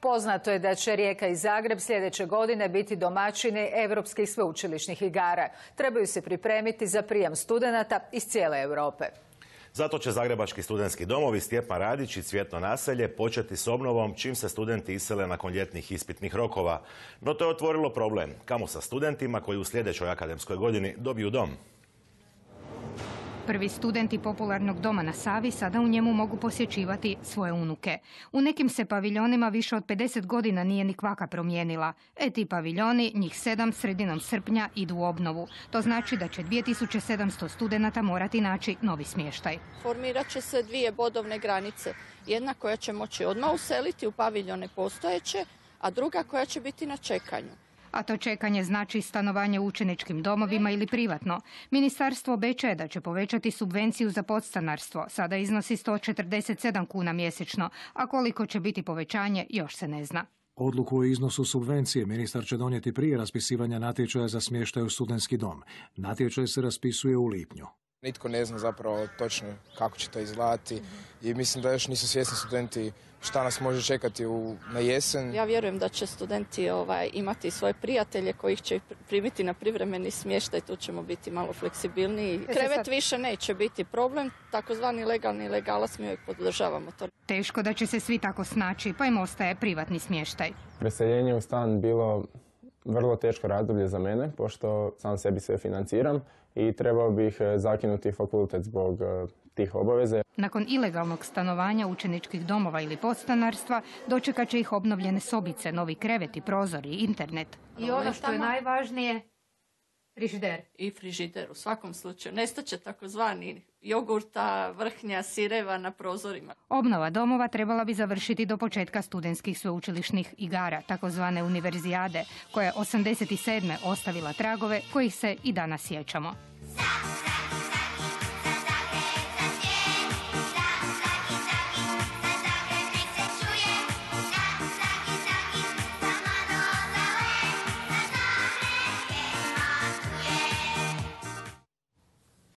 Poznato je da će Rijeka i Zagreb sljedeće godine biti domaćini europskih sveučilišnih igara. Trebaju se pripremiti za prijam studenata iz cijele Europe. Zato će Zagrebački studentski domovi Stjepan Radić i Cvjetno naselje početi s obnovom čim se studenti isele nakon ljetnih ispitnih rokova. No to je otvorilo problem. Kamo sa studentima koji u sljedećoj akademskoj godini dobiju dom? Prvi studenti popularnog doma na Savi sada u njemu mogu posjećivati svoje unuke. U nekim se paviljonima više od 50 godina nije ni kvaka promijenila. Ti paviljoni, njih 7, sredinom srpnja idu u obnovu. To znači da će 2700 studenata morati naći novi smještaj. Formirat će se 2 bodovne granice. Jedna koja će moći odmah useliti u paviljone postojeće, a druga koja će biti na čekanju. A to čekanje znači stanovanje u učeničkim domovima ili privatno. Ministarstvo obećaje da će povećati subvenciju za podstanarstvo. Sada iznosi 147 kuna mjesečno, a koliko će biti povećanje još se ne zna. Odluku o iznosu subvencije ministar će donijeti prije raspisivanja natječaja za smještaj u studentski dom. Natječaj se raspisuje u lipnju. Nitko ne zna zapravo točno kako će to izgledati i mislim da još nisu svjesni studenti šta nas može čekati na jesen. Ja vjerujem da će studenti imati svoje prijatelje kojih će primiti na privremeni smještaj, tu ćemo biti malo fleksibilniji. Krevet više neće biti problem, takozvani legalni legalac mi uvijek podržavamo to. Teško da će se svi tako snaći, pa im ostaje privatni smještaj. Preseljenje u stan bilo vrlo teško razdoblje za mene, pošto sam sebi sve financiram i trebao bih zakinuti fakultet zbog tih obaveza. Nakon ilegalnog stanovanja učeničkih domova ili podstanarstva dočekat će ih obnovljene sobice, novi kreveti, prozori, internet. I ono što je najvažnije, frižider. I frižider u svakom slučaju. Nestaće takozvani jogurta, vrhnja, sireva na prozorima. Obnova domova trebala bi završiti do početka studentskih sveučilišnih igara, takozvane univerzijade, koja je 87. ostavila tragove kojih se i danas sjećamo.